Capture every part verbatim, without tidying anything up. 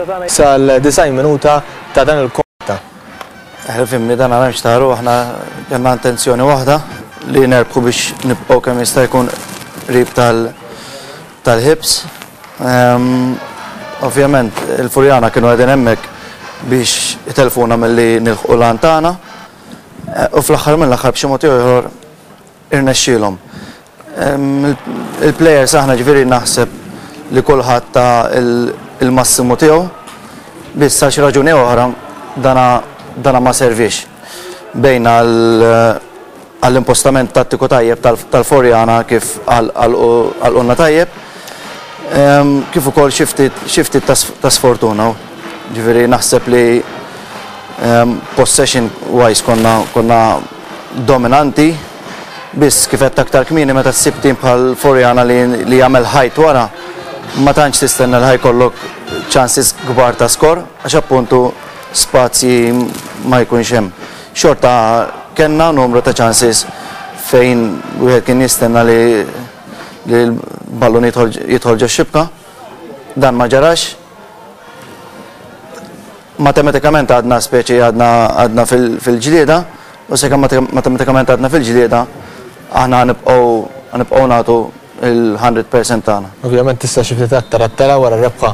Sal-disgħin minuta ta' dan il-konta. Fhimni, dan għamx taru, aħna kellna intenzjoni waħda li nerbħu biex nibqgħu kemm jista' jkun qrib tal-Hibs. Ovvjament, il-Furjana kienu qegħdin hemmhekk biex itelfuna milli nilħqu l-għan tagħna u fl-aħħar mill-aħħar b'xi mod ieħor irnexxielhom. Il-players aħna, ġifieri, naħseb li kulħadd ta il-massimu tiegħu, biss għal xi raġuni oħra dana dana ma servix. Bejn għall-impostament tattiku tajjeb tal-Furjana kif għal tajjeb, kif ukoll xi ftit ta' sfortuna. Ġifieri naħseb li possession wise konna konna dominanti, biss kif qed aktar kmieni, meta ssib tim bħal Furjana li, li jagħmel ħajt wara, ma tantx tistenna li ħa jkollok chances kbar ta' skor, għax appuntu spazji ma jkunx hemm. Xorta kellna numru ta' chances fejn wieħed kien jistenna li li l-ballun jidħol ġo xibka. Dan ma ġarax. Matematikament għadna, speċi, għadna għadna fil-ġlieda u sakemm matematikament għadna fil-ġlieda, aħna nibqgħu nibqgħu nagħtu il-mija fil-mija tagħna. Ovvjament tista' xi ftit aktar attara wara rebħa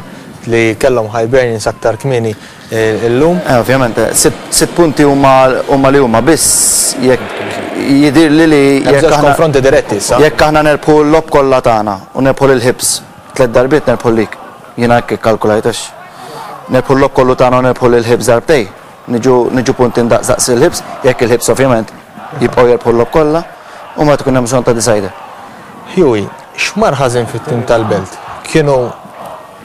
li kellhom Hibernians aktar kmieni eh, illum. Eh, ovvjament, sitt punti huma huma li huma, biss jekk jidir li li jekk konfronti diretti issa. Jekk aħna nerbħu l-logħob kollha tagħna u nerbħu lil Hibs tliet darbiet, nerbħu lik. Jiena hekk ikkalkulajt, għax nerbħu l-logħob kollu tagħna u nerbħu lil Hibs darbtej. Niġu niġu punti ndaqs il-Hibs, jekk il-Hibs ovvjament jibqgħu jerbħu l-logħob kollha u ma tkun hemm bżonn ta' decider. Huey, x'mar ħażin fit-tim tal-Belt? Kienu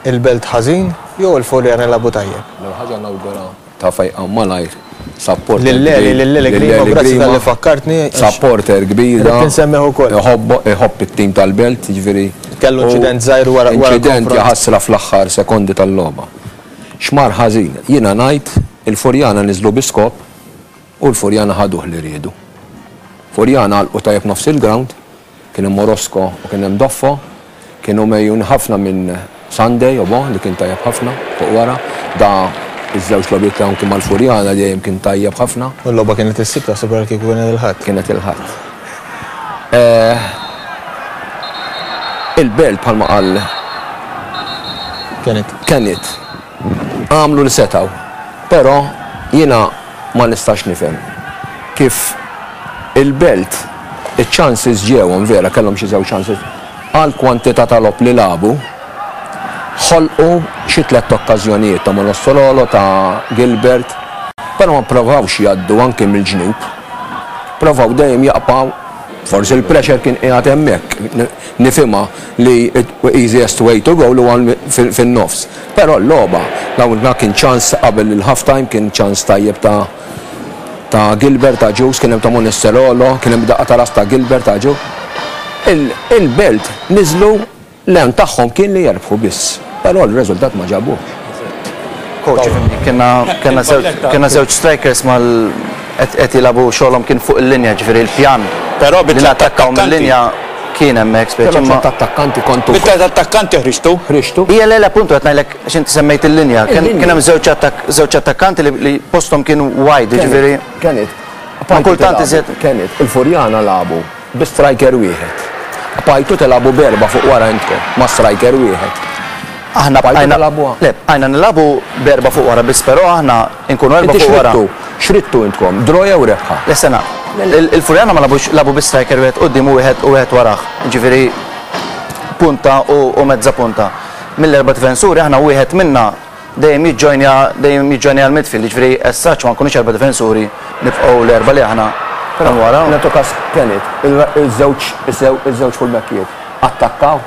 il-Belt ħażin jew il-Furjana lagħbu tajjeb? L ħaġa, nawgura ta' fejqa malajr supporter. Lil-Leli, kbir. Lil-Leli Grima, grazzi Grima. tal-li fakkartni. għax Supporter kbir da. Ridt insemmih ukoll. Iħobb iħobb it-tim tal-Belt, ġifieri. Kellu u inċident żgħir wara- wara Inċident, konfront. jaħasra, fl-aħħar sekondi tal-logħba. X'mar ħażin? Jiena ngħid il-Furjana niżlu bi skop u l-Furjana ħaduh li riedu. Furjana għalqu tajjeb nofs il-ground, kien hemm Orozco u kien hemm Doffo, kienu mejjun ħafna minn Sunday Obo li kien tajjeb ħafna fuq wara, da iż-żewġ logħbiet li kien mal-Furjana dejjem kien tajjeb ħafna. U l-logħba kienet is-Sibt, taħseb kieku kienet il-Ħadd. Kienet il-Ħadd. Eh, Il-Belt, bħalma qal Kienet. Kenneth, għamlu li setaw, però jiena ma nistax nifhem kif il-Belt il-chances ġewhom, vera kellhom xi żewġ chances għal kwantità ta' logħob li lagħbu, ħolqu xi tliet okkażjonijiet ta' Monossololo, ta' Gilbert, però ma provawx jgħaddu anke mill-ġnub. Provaw dejjem jaqpaw, forsi il-pressure kien qiegħed hemmhekk. Nifhimha li easiest way to go huwa fin-nofs. Però l-logħba, dawn kien ċans qabel il-half time, kien ċans tajjeb ta' ta' Gilbert, ta' Ġus, kien hemm ta' Monesterolo, kien hemm daqqa ta' ras ta' Gilbert, ta' Ġus. Il-Belt niżlu, l-għan tagħhom kien li jerbħu biss, però l-riżultat ma ġabuh. Coach, kena kena żewġ żewġ strikers mal qed jilagħbu, xogħolhom kien fuq il-linja, ġifieri il-pjan. Però li nattakkaw mill-linja kien hemmhekk, speċi. Però ma attakkanti kontu. Bit-tlet attakkanti ħriġtu. Ħriġtu. Ija, le, le, appuntu qed ngħidlek għax inti semmejt il-linja. Kien Il-linja. kien hemm żewġ attak żewġ attakkanti li, li posthom kien wide, ġifieri. Kienet. Ma kultant iżjed- Kienet, il-Furjana lagħbu bi striker wieħed. Bqajtu tilagħbu b'erba' fuq wara intkom, ma' striker wieħed. Aħna Bqajtu bqajna tilagħbuha. Le, bqajna nilagħbu b'erba' fuq wara biss, però aħna nkunu erba' Inti fuq wara. x'ridtu? X'ridtu intkom? Draw jew rebħa? Le, sena, il- il-Furjana ma lagħbux, lagħbu bi striker wieħed quddiem u wieħed u wieħed warah. Ġifieri punta u, u mezza punta. Mill-erba' difensuri aħna wieħed minna dejjem jiġġojnja dejjem jiġġojnja l-midfield, ġifieri as such ma nkunux erba' difensuri, nibqgħu l-erba' li aħna minn wara. Nagħtu kas, kienet, il-żewġ il-żewġ fullbackijiet attakkaw.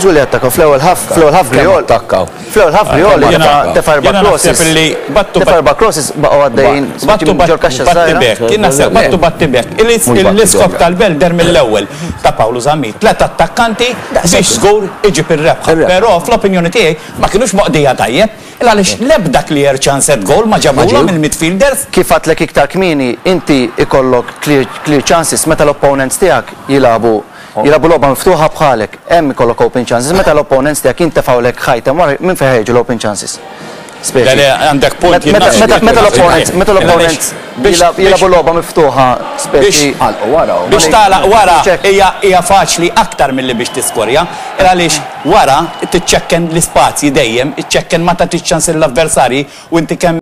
Żgur li attakkaw fl-ewwel half, fl-ewwel half Kemm Griol. attakkaw? Fl-ewwel half Griol Jiena- tefa' erba' jiena crosses. naħseb li battu Tefa' erba' crosses, baqgħu għaddejjin Battu ġol kaxxa batti żgħira. bek, jien naħseb battu batti bek. Mhux batti L-iskop bek. tal-Belt deher mill-ewwel ta' Paolo Zammit. Tlet attakkanti biex żgur iġib ir-rebħa. Ir-rebħa. Però fl-opinjoni tiegħi ma kienux moqdija tajjeb. Il għaliex l-ebda clear chance at goal ma ġabulhom il-midfielders. Kif għedtlek iktar kmieni, inti ikollok clear, clear chances meta l-opponents tiegħek jilagħbu jilagħbu logħba miftuħa bħalek, hemm ikollok open chances. Meta l-opponents tiegħek jintefgħulek ħajtem wara, minn fejn ħejġu l-open chances? Speċi. Le, għandek punt. Meta meta l-opponent meta l-opponent jilagħbu logħba miftuħa, speċi. Wara. Biex tagħlaq wara hija hija faċli aktar milli biex tiskorja, għaliex wara tiċċekken l-ispazji dejjem, iċċekken ma tagħtix ċans l-avversarji u inti kemm